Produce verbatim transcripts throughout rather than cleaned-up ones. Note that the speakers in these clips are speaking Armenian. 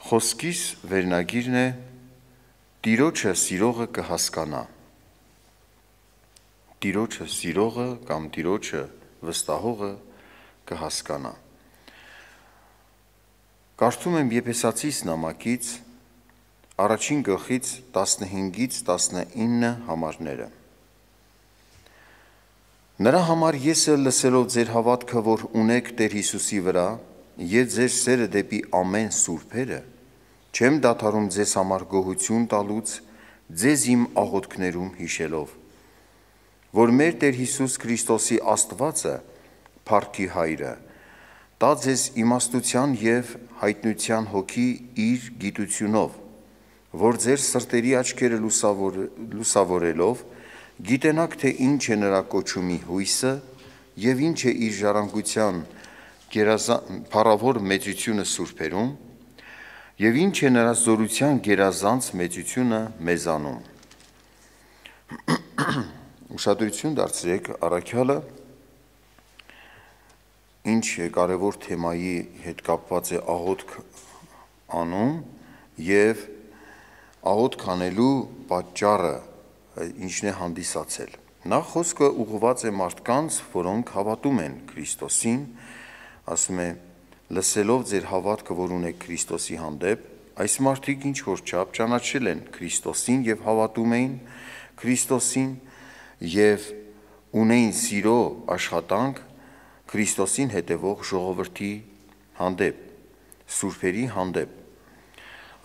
Խոսքիս վերնագիրն է Տիրոջը սիրողը կհասկանա։ Տիրոջը սիրողը կամ Տիրոջը վստահողը կհասկանա։ Կարդում եմ Եփեսացիս նամակից առաջին գլխից տասնհինգից տասնինը համարները։ Նրա համար ես էլ լսելով ձեր հավատքը, որ ունեք Տեր Հիսուսի վրա, եւ ձեր սերը դեպի ամեն սուրբերը, չեմ դադարում ձեզ համար գոհություն տալուց, ձեզ իմ աղոթքներում հիշելով, որ մեր Տեր Հիսուս Քրիստոսի Աստվածը, փառքի Հայրը, տա ձեզ իմաստության եւ հայտնության հոգի իր գիտությունով, որ ձեր սրտերի աչքերը լուսավոր, լուսավորելով, գիտենաք, թե ինչ է նրա կոչումի հույսը եւ ինչ է իր ժառանգության փառավոր մեծությունը սուրբերում եւ ինչ է նրա զորության գերազանց մեծությունը մեզանում։ Ուշադրություն դարձրեք առաքյալը ինչ կարևոր թեմայի հետ կապված է աղոթք անում եւ աղոթք անելու պատճառը ինչն է հանդիսացել։ Նախ խոսքը ուղղված է մարդկանց, որոնք հավատում են Քրիստոսին, ասում է, լսելով ձեր հավատքը, որ ունեք Քրիստոսի հանդեպ, այս մարդիկ ինչ որ չափ ճանաչել են Քրիստոսին եւ հավատում էին Քրիստոսին եւ ունեին սիրո աշխատանք Քրիստոսին հետևող ժողովրդի հանդեպ, սուրբերի հանդեպ։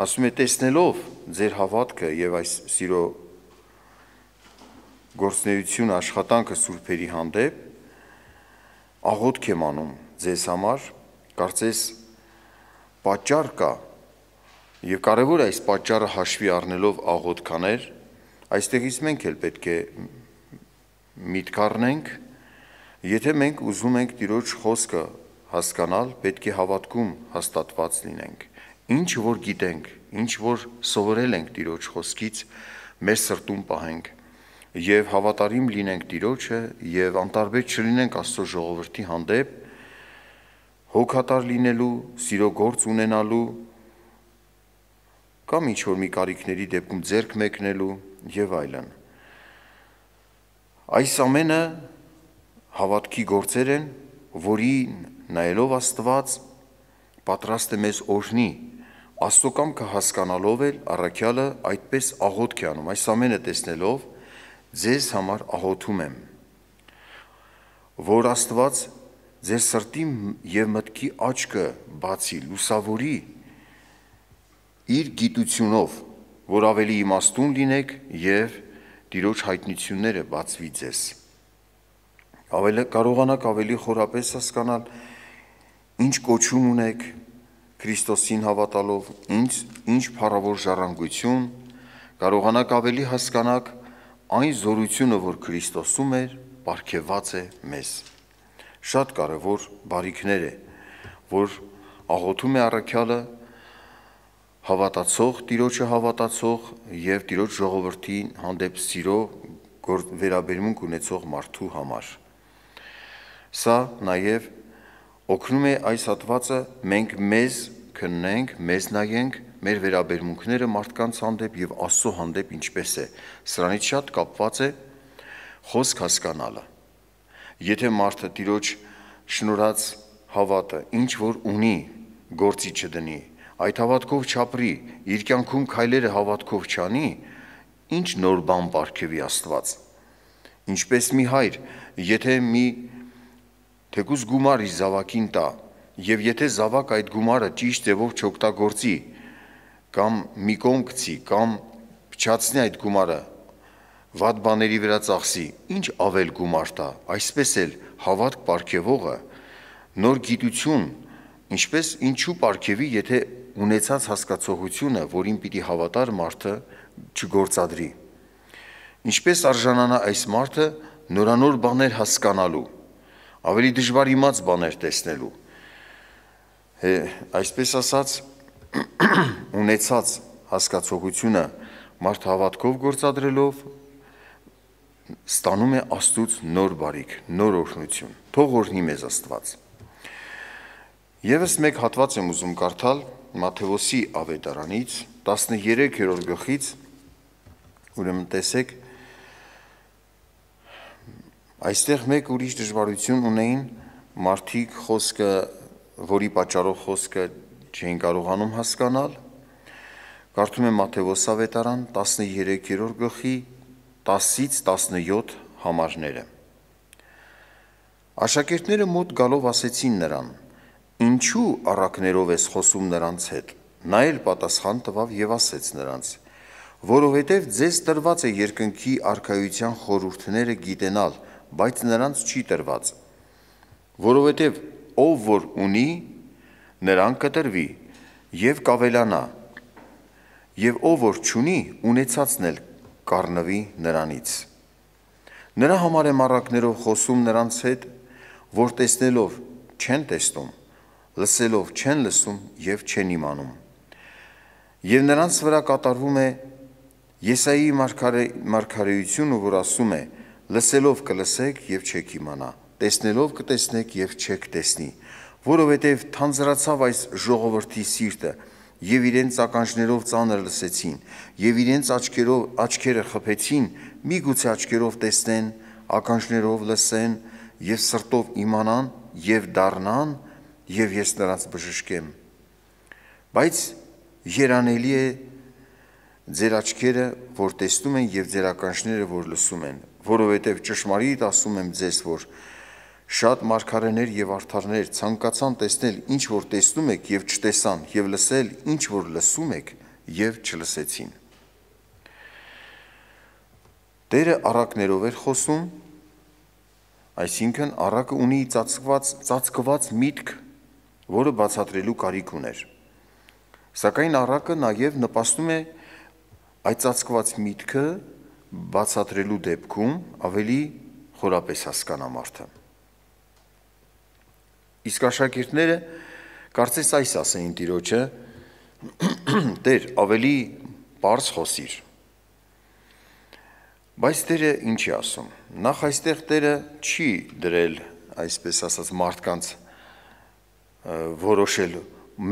Ասում է, տեսնելով ձեր հավատքը եւ այս սիրո գործունեությունը աշխատանքը սուրբերի հանդեպ, աղոթք եմ անում ձեզ համար, կարծես պատճառ կա եւ կարեւոր է այս պատճառը հաշվի առնելով աղոթք անել, այստեղից մենք էլ պետք է միտք առնենք, եթե մենք ուզում ենք Տիրոջ խոսքը հասկանալ, պետք է հավատքում հաստատված լինենք, ինչ որ գիտենք, ինչ որ սովորել ենք Տիրոջ խոսքից, մեր սրտում պահենք եւ հավատարիմ լինենք Տիրոջը եւ անտարբեր չլինենք Աստծո ժողովրդի հանդեպ, հոգատար լինելու, սիրո գործ ունենալու կամ ինչ որ մի կարիքների դեպքում ձեռք մեկնելու եւ այլն։ Այս ամենը հավատքի գործեր են, որին նայելով Աստված պատրաստ է մեզ օրհնի, Աստծո կամքը հասկանալով էլ առաքյալը այդպես աղոթք է անում, այս ամենը տեսնելով ձեզ համար աղոթում եմ, որ Աստված ձեր սրտի եւ մտքի աչքը բացի, լուսավորի իր գիտությունով, որ ավելի իմաստուն լինեք եւ Տիրոջ հայտնությունները բացվի ձեզ։ Ավելի կարողանաք ավելի խորապես հասկանալ, ինչ կոչում ունեք Քրիստոսին հավատալով, ինչ ինչ փառավոր ժառանգություն, կարողանաք ավելի հասկանալ այն զորությունը, որ Քրիստոսում էր, պարգևված է մեզ։ Շատ կարևոր բարիքներ է, որ աղոթում է առաքյալը հավատացող, Տիրոջը հավատացող եւ Տիրոջ ժողովրդի հանդեպ սիրո վերաբերմունք ունեցող մարդու համար։ Սա նաեւ օգնում է այս հատվածը մենք մեզ քննենք, մեզ նայենք մեր վերաբերմունքները մարդկանց հանդեպ եւ Աստծո հանդեպ ինչպես է։ Սրանից շատ կապված է խոսք հասկանալը։ Եթե մարդը Տիրոջ շնորհած հավատը ինչ որ ունի, գործի չդնի, այդ հավատքով չապրի, իր կյանքում քայլերը հավատքով չանի, ինչ նոր բան պարգևի Աստված։ Ինչպես մի հայր, եթե մի թեկուզ գումար իր զավակին տա, եւ եթե զավակ այդ գումարը ճիշտ ձևով չօգտագործի, կամ մի կողմ գցի, կամ փչացնի այդ գումարը, վատ բաների վրա ծախսի, ինչ ավել գումար տա, այսպես էլ հավատք պարգևողը նոր գիտություն, ինչպես ինչու պարգևի, եթե ունեցած հասկացողությունը, որին պիտի հավատար մարդը չգործադրի։ Ինչպես արժանանա այս մարդը նորանոր բաներ հասկանալու, ավելի դժվար իմաց բաներ տեսնելու։ Այսպես ասած, ունեցած հասկացողությունը մարդ հավատքով գործադրելով ստանում է Աստծուց նոր բարիք, նոր օրհնություն։ Թող օրհնի մեզ Աստված։ Եվս մեկ հատված եմ ուզում կարդալ Մատթեոսի ավետարանից տասներեքերորդ գլխից, ուրեմն տեսեք, այստեղ մեկ ուրիշ դժվարություն ունեին մարդիկ խոսքը, որի պատճառով խոսքը չէին կարողանում հասկանալ։ Կարդում եմ Մատթեոս ավետարան տասներեքերորդ գլխի տասից տասնյոթ համարները։ Աշակերտները մոտ գալով ասեցին նրան. «Ինչու առակներով ես խոսում նրանց հետ»։ Նա էլ պատասխան տվավ եւ ասեց նրանց. «Որովհետև ձեզ տրված է երկնքի արքայության խորհուրդները գիտենալ, բայց նրանց չի տրված, որովհետև ով որ ունի, նրան կտրվի եւ կավելանա, եւ ով որ չունի, ունեցածն էլ կառնվի նրանից։ Նրա համար եմ առակներով խոսում նրանց հետ, որ տեսնելով չեն տեսնում, լսելով չեն լսում եւ չեն իմանում։ Եվ նրանց վրա կատարվում է Եսայի մարգարեությունը, որ ասում է. լսելով կլսեք եւ չեք իմանա, տեսնելով կտեսնեք եւ չեք տեսնի, որովհետեւ թանձրացավ այս ժողովրդի սիրտը եւ իրենց ականջներով ծանր լսեցին եւ իրենց աչքերով աչքերը խփեցին, միգուցե աչքերով տեսնեն, ականջներով լսեն եւ սրտով իմանան եւ դառնան, եւ ես նրանց բժշկեմ։ Բայց երանելի է ձեր աչքերը, որ տեսնում են եւ ձեր ականջները, որ լսում են, որովհետեւ ճշմարիտ ասում եմ ձեզ, որ շատ մարգարեներ եւ արդարներ ցանկացան տեսնել, ինչ որ տեսնում եք եւ չտեսան, եւ լսել, ինչ որ լսում եք եւ չլսեցին։ Տերը առակներով էր խոսում, այսինքն առակը ունի ծածկված ծածկված միտք, որը բացատրելու կարիք ուներ։ Սակայն առակը նաեւ նպաստում է այդ ծածկված միտքը բացատրելու դեպքում ավելի խորապես հասկանա մարդը։ Իսկ աշակերտները կարծես այս ասեին Տիրոջը. «Տեր, ավելի բարձ խոսիր»։ Բայց Տերը ինչ է ասում։ Նախ այստեղ Տերը չի դրել, այսպես ասած, մարդկանց որոշել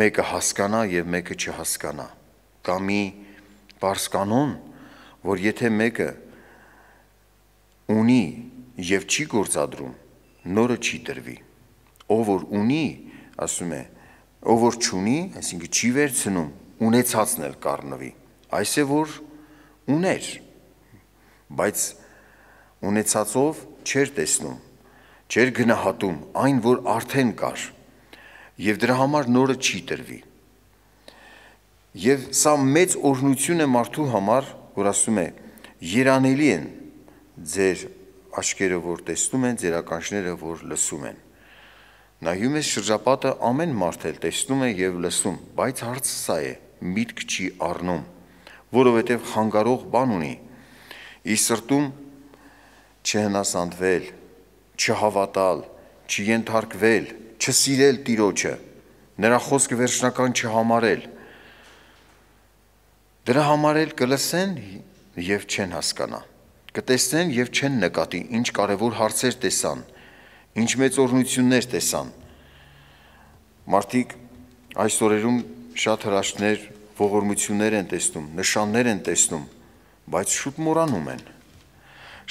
մեկը հասկանա եւ մեկը չհասկանա։ Կա մի բարձ կանոն, որ եթե մեկը ունի եւ չի գործադրում, նորը չի տրվի։ Ով որ ունի, ասում է, ով որ չունի, այսինքն չի վերցնում, ունեցածն էլ կառնվի։ Այս է որ ուներ, բայց ունեցածով չէր տեսնում, չէր գնահատում այն, որ արդեն կար, եւ դրա համար նորը չի տրվի։ Եվ սա մեծ օրհնություն է մարդու համար, որ ասում է. երանելի են ձեր աչքերը, որ տեսնում են, ձեր ականջները, որ լսում են։ Նայում ես շրջապատը, ամեն մարդ էլ տեսնում է եւ լսում, բայց հարցը սա է, միտք չի առնում, որովհետեւ խանգարող բան ունի։ Իր սրտում չհնասանդվել, չհավատալ, չենթարկվել, չսիրել Տիրոջը, նրա խոսքը վերջնական չհամարել։ Դրա համար էլ կլսեն եւ չեն հասկանա, կտեսնեն եւ չեն նկատի, ինչ կարեւոր հարցեր տեսան, ինչ մեծ օրհնություններ տեսան։ Մարդիկ այս օրերում շատ հրաշքներ, ողորմություններ են տեսնում, նշաններ են տեսնում, բայց շուտ մոռանում են։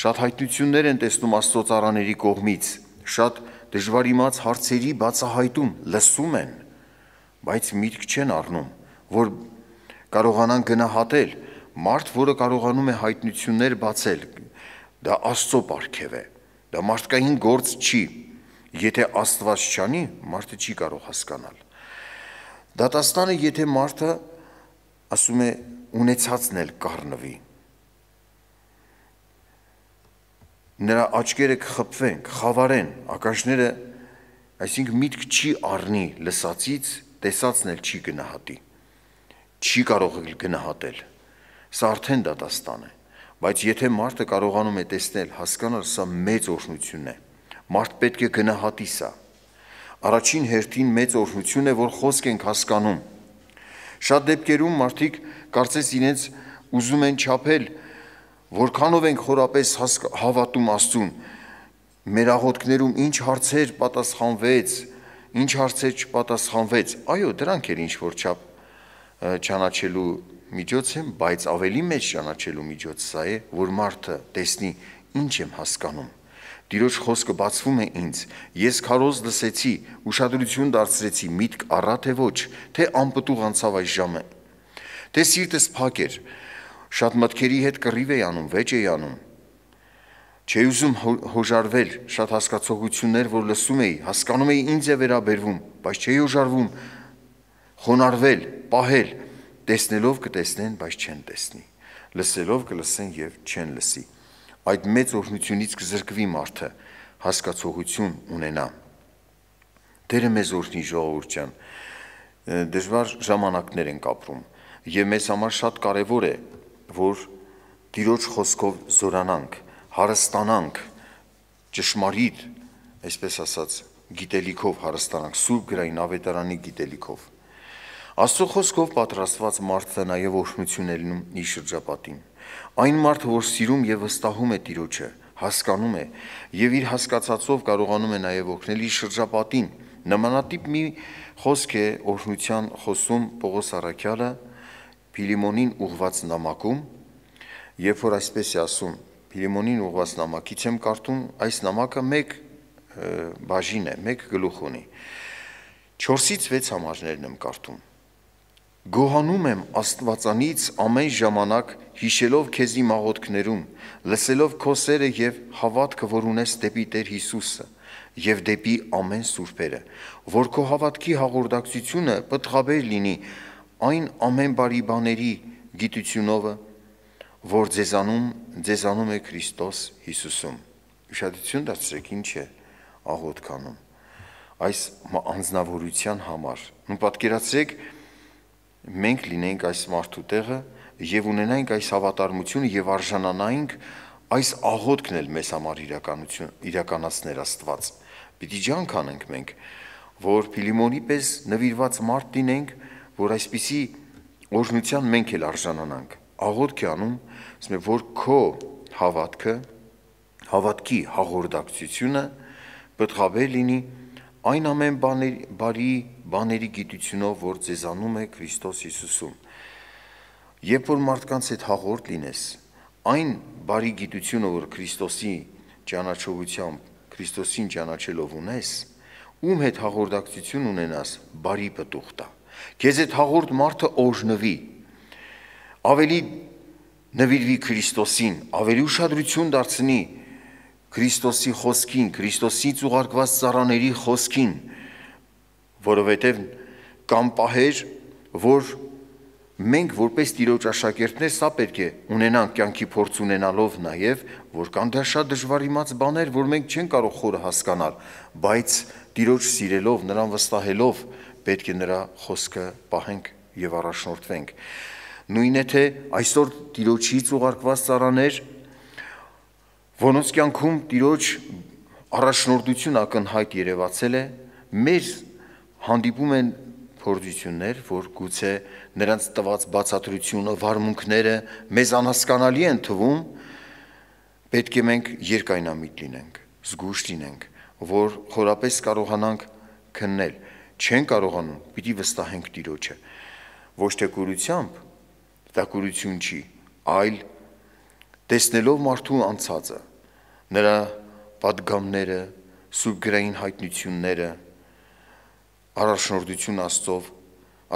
Շատ հայտնություններ են տեսնում Աստծո ծառաների կողմից, շատ դժվար իմաց հարցերի բացահայտում լսում են, բայց միտք չեն առնում, որ կարողանան գնահատել։ Մարդ, որը կարողանում է հայտնություններ բացել, դա Աստծո պարգև է, դա մարդկային գործ չի։ Եթե Աստված չանի, մարդը չի կարող հասկանալ։ Դատաստանը, եթե մարդը ասում է ունեցածն էլ կառնվի, նրա աչքերը կխփվեն, կխավարեն, ականջները, այսինքն միտք չի առնի լսածից, տեսածն էլ չի գնահատի, չի կարող գնահատել։ Սա արդեն դատաստան է, բայց եթե մարդը կարողանում է տեսնել, հասկանալ, սա մեծ օրհնություն է։ Մարդ պետք է գնահատի սա։ Առաջին հերթին մեծ օրհնություն է, որ խոսք ենք հասկանում։ Շատ դեպքերում մարդիկ կարծես իրենց ուզում են չափել, որքանով ենք խորապես հավատում Աստծուն, մեր աղոթքներում ինչ հարցեր պատասխանվեց, ինչ հարցեր չպատասխանվեց։ Այո, դրանք էլ ինչ որ չափ ճանաչելու միջոց է, բայց ավելի մեծ ճանաչելու միջոց սա է, որ մարդը տեսնի ինչ եմ հասկանում։ Տիրոջ խոսքը բացվում է ինձ, ես քարոզ լսեցի, ուշադրություն դարձրեցի, միտք առա թե ոչ, թե անպտուղ անցավ այս ժամը, թե սիրտս փակ էր, շատ մտքերի հետ կռիվ էի անում, վեճ էի անում, չէի ուզում հոժարվել, շատ հասկացողություններ, որ լսում էի, հասկանում էի ինձ է վերաբերվում, բայց չէի հոժարվում, խոնարհվել, պահել, տեսնելով կտեսնեն, բայց չեն տեսնի, լսելով կլսեն եւ չեն լսի։ Այդ մեծ օրհնությունից կզրկվի մարդը, հասկացողություն ունենա։ Տերը մեզ օրհնի, ժողովուրդ ջան, դժվար ժամանակներ ենք ապրում եւ մեզ համար շատ կարեւոր է, որ Տիրոջ խոսքով զորանանք, հարստանանք, ճշմարիտ, այսպես ասած, գիտելիքով հարստանանք, Սուրբ գրային ավետարանի գիտելիքով։ Աստծո խոսքով պատրաստված մարդը նաև օրհնություն է լինում իր շրջապատին։ Այն մարդը, որ սիրում եւ վստահում է Տիրոջը, հասկանում է եւ իր հասկացածով կարողանում է նաև օգնել իր շրջապատին։ Նմանատիպ մի խոսք է օրհնության խոսում Պողոս առաքյալը Փիլիմոնին ուղված նամակում, երբ որ այսպես է ասում, Փիլիմոնին ուղված նամակից եմ կարդում, այս նամակը մեկ բաժին է, մեկ գլուխ ունի։ չորսից վեց համարներն եմ կարդում։ Գոհանում եմ Աստվածանից ամեն ժամանակ հիշելով քեզի մաղոթքներում, լսելով քո սերը եւ հավատքը, որ ունես դեպի Տեր Հիսուսը եւ դեպի ամեն սուրբերը, որ քո հավատքի հաղորդակցությունը պտղաբեր լինի այն ամեն բարի բաների գիտությունով, որ ձեզանում ձեզանում է Քրիստոս Հիսուսում։ Ուշադրություն դարձրեք, ինչ է աղոթքանում այս անձնավորության համար։ Ու պատկերացրեք, մենք լինենք այս մարդու տեղը եւ ունենայինք այս հավատարմությունը եւ արժանանայինք այս աղոթքն էլ մեզ համար իրականություն իրականացներ Աստված։ Պիտի ջանք անենք մենք, որ Փիլիմոնի պես նվիրված մարդ լինենք, որ այսպիսի օրհնության մենք էլ արժանանանք։ Աղոթք է անում, ասում է, որ քո հավատքը, հավատքի հաղորդակցությունը պտղաբեր լինի այն ամեն բաների, բարի բաների գիտությունով, որ ձեզանում է Քրիստոս Հիսուսում։ Երբ որ մարդկանց հետ հաղորդ լինես, այն բարի գիտությունը, որ Քրիստոսի ճանաչողությամբ, Քրիստոսին ճանաչելով ունես, ում հետ հաղորդակցություն ունենաս, բարի պտուղ տա։ Քեզ հետ հաղորդ մարդը օրհնվի, ավելի նվիրվի Քրիստոսին, ավելի ուշադրություն դարձնի Քրիստոսի խոսքին, Քրիստոսից ուղարկված ծառաների խոսքին, որովհետև կամ պահեր, որ մենք որպես Տիրոջ աշակերտներ սա պետք է ունենանք կյանքի փորձ ունենալով նաև, որ կան դա շատ դժվար իմաց բաներ, որ մենք չենք կարող խորը հասկանալ, բայց Տիրոջ սիրելով, նրան վստահելով պետք է նրա խոսքը պահենք եւ առաջնորդվենք։ Նույնն է թե այսօր Տիրոջից ուղարկված ծառաներ, որոնց կյանքում Տիրոջ առաջնորդություն ակնհայտ երևացել է, մեր հանդիպում են փորձություններ, որ գուցե նրանց տված բացատրությունը, վարմունքները մեզ անհասկանալի են թվում, պետք է մենք երկայնամիտ լինենք, զգույշ լինենք, որ խորապես կարողանանք քննել, չեն կարողանում, պիտի վստահենք Տիրոջը, ոչ թե կուրությամբ, դա կուրություն չի, այլ տեսնելով մարդու անցածը, նրա պատգամները, Սուրբ գրային հայտնությունները, առաջնորդություն Աստծով,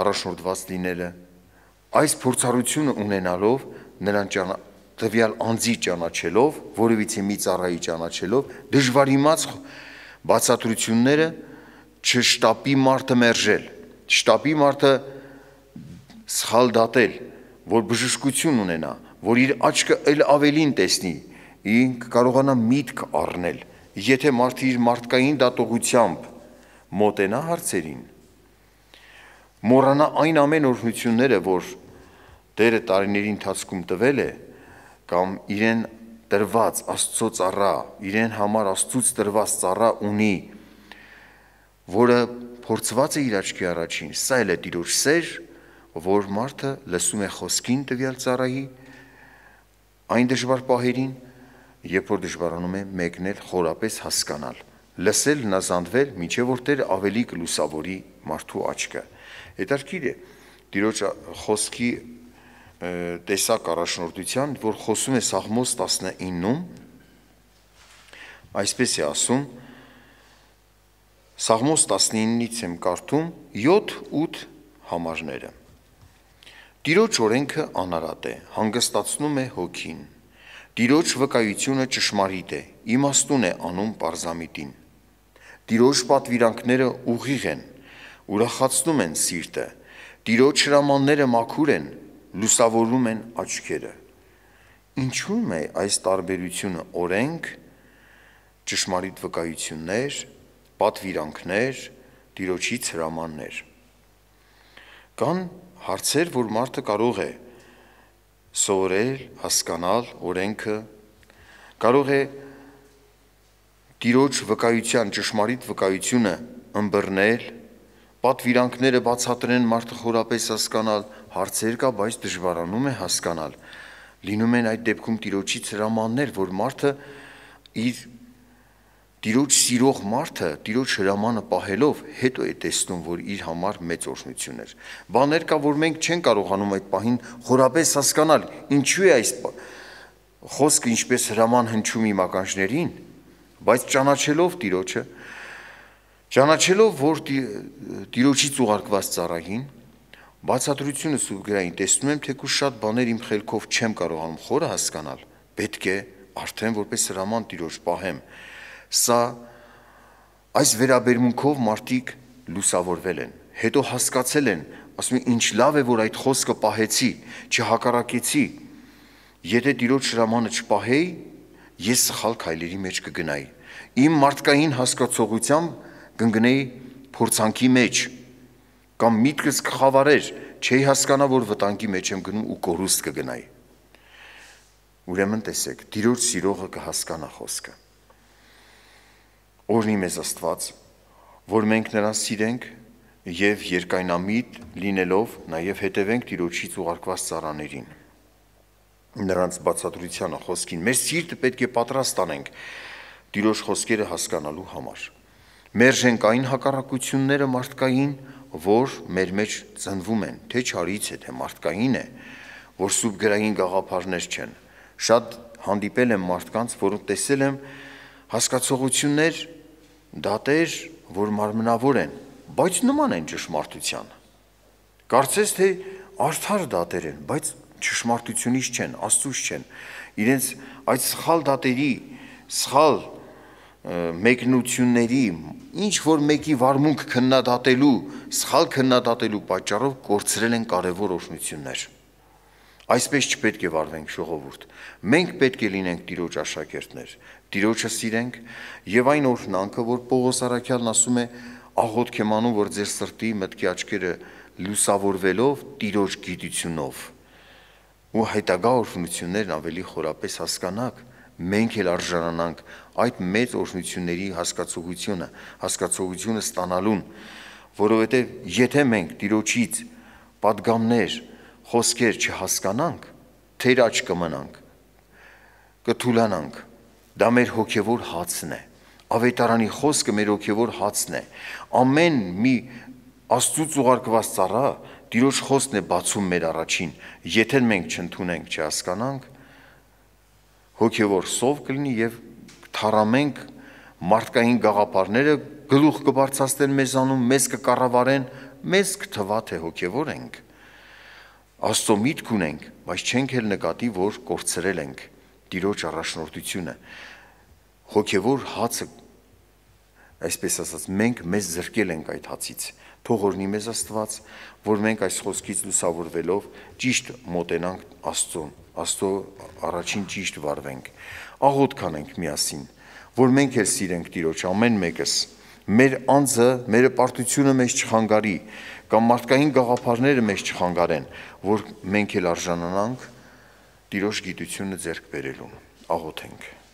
առաջնորդված լինելը, այս փորձառությունը ունենալով, նրան տվյալ անձի ճանաչելով, որևիցե մի ծառայի ճանաչելով, դժվար իմաց բացատրությունները չշտապի մարդը մերժել, չշտապի մարդը սխալ դատել, որ բժշկություն ունենա, որ իր աչքը էլ ավելին տեսնի, ինք կարողանա միտք առնել, եթե մարդը իր մարդկային դատողությամբ մոտենա հարցերին, մոռանա այն ամեն օրհնությունները, որ Տերը տարիների ընթացքում տվել է, կամ իրեն տրված Աստծո ծառա, իրեն համար Աստծուց տրված ծառա ունի, որը փորձված է իր աչքի առաջին, սա էլ է Տիրոջ սեր, որ մարդը լսում է խոսքին տվյալ ծառայի, այն դժվար պահերին, երբ որ դժվարանում է մեկնել խորապես հասկանալ, լսել, հնազանդվել, մինչև որ Տերը ավելի կլուսավորի մարդու աչքը։ Հետաքրքիր է, Տիրոջ խոսքի տեսակ առաջնորդության, որ խոսում է Սաղմոս տասնիննում, այսպես է ասում, Սաղմոս տասնինից եմ կարդում յոթ-ութ համարները։ Տիրոջ օրենքը անարատ է, հանգստացնում է հոգին։ Տիրոջ վկայությունը ճշմարիտ է, իմաստուն է անում պարզամիտին։ Տիրոջ պատվիրանքները ուղիղ են, ուրախացնում են սիրտը։ Տիրոջ հրամանները մաքուր են, լուսավորում են աչքերը։ Ինչու՞մ է այս տարբերությունը օրենք, ճշմարիտ վկայություններ, պատվիրանքներ, Տիրոջից հրամաններ։ Կան հարցեր, որ մարդը կարող է սովորել, հասկանալ օրենքը, կարող է Տիրոջ վկայության, ճշմարիտ վկայությունը ըմբռնել, պատվիրանքները բացատրեն մարդը խորապես հասկանալ, հարցեր կա, բայց դժվարանում է հասկանալ։ Լինում են այդ դեպքում Տիրոջից հրամաններ, որ մարդը իր Տիրոջ սիրող մարդը Տիրոջ հրամանը պահելով հետո է տեսնում, որ իր համար մեծ օրհնություն էր։ Բաներ կա, որ մենք չենք կարողանում այդ պահին խորապես հասկանալ, ինչու է այս խոսքը ինչպես հրաման հնչում իմ ականջներին, բայց ճանաչելով Տիրոջը, ճանաչելով, որ Տիրոջից ուղարկված ծառային, բացատրությունը Սուրբ գրային տեսնում եմ, թեկուզ շատ բաներ իմ խելքով չեմ կարողանում խորը հասկանալ, պետք է արդեն որպես հրաման Տիրոջ պահեմ։ Սա այս վերաբերմունքով մարդիկ լուսավորվել են, հետո հասկացել են, ասում են, ինչ լավ է, որ այդ խոսքը պահեցի, չհակառակեցի, եթե Տիրոջ հրամանը չպահեի, ես սխալ քայլերի մեջ կգնայի, իմ մարդկային հասկացողությամբ կընկնեի փորձանքի մեջ, կամ միտքս կխավարեր, չէի հասկանա, որ վտանգի մեջ եմ գնում ու կորուստ կգնայի։ Ուրեմն տեսեք, Տիրոջ սիրողը կհասկանա խոսքը։ Օրհնի մեզ Աստված, որ մենք նրան սիրենք և երկայնամիտ լինելով նաև հետևենք Տիրոջից ուղարկված ծառաներին, նրանց բացատրությանը, խոսքին, մեր սիրտը պետք է պատրաստ անենք Տիրոջ խոսքերը հասկանալու համար։ Մերժենք այն հակառակությունները մարդկային, որ մեր մեջ ծնվում են, թե չարից է, թե մարդկային է, որ սուրբ գրային գաղափարներ չեն։ Շատ հանդիպել եմ մարդկանց, որոնք տեսել եմ հասկացողություններ, դատեր, որ մարմնավոր են, բայց նման են ճշմարտության։ Կարծես թե արդար դատեր են, բայց ճշմարտությունից չեն, Աստծուց չեն։ Իրենց այդ սխալ դատերի, սխալ մեկնությունների, ինչ որ մեկի վարմունք քննադատելու, սխալ քննադատելու պատճառով կորցրել են կարևոր օրհնություններ։ Այսպես չպետք է վարվենք, ժողովուրդ։ Մենք պետք է լինենք Տիրոջ աշակերտներ, Տիրոջը սիրենք եւ այն օրհնանքը, որ Պողոս առաքյալն ասում է, աղոթք եմ անում, որ ձեր սրտի մտքի աչքերը լուսավորվելով Տիրոջ գիտությունով ու հետագա օրհնություններն ավելի խորապես հասկանաք, մենք էլ արժանանանք այդ մեծ օրհնությունների հասկացողությունը, հասկացողությունը ստանալուն, որովհետև եթե մենք Տիրոջից պատգամներ, խոսքեր չհասկանանք, թեր աչ կմնանք, կթուլանանք, դա մեր հոգևոր հացն է, ավետարանի խոսքը մեր հոգևոր հացն է, ամեն մի Աստծուց ուղարկված ծառա Տիրոջ խոսքն է բացում մեր առաջին, եթե մենք չընդունենք, չհասկանանք, հոգևոր սով կլինի և թառամենք մարդկային գաղափարները գլուխ կբարձրացնեն մեզանում, մեզ կկառավարեն, մեզ կթվա թե հոգևոր ենք, Աստծո միտք ունենք, բայց չենք էլ նկատի, որ կորցրել ենք Տիրոջ առաջնորդությունը, հոգևոր հացը, այսպես ասած, մենք մեզ զրկել ենք այդ հացից, թող օրհնի մեզ Աստված, որ մենք այս խոսքից լուսավորվելով ճիշտ մոտենանք Աստծուն, Աստծո առաջին ճիշտ վարվենք, աղոթք անենք միասին, որ մենք էլ սիրենք Տիրոջ ամեն մեկս, մեր անձը, մեր պարտությունը մեզ չխանգարի, կամ մարդկային գաղափարները մեզ չխանգարեն, որ մենք էլ արժանանանք Տիրոջ գիտությունը ձեռք բերելուն, աղոթենք։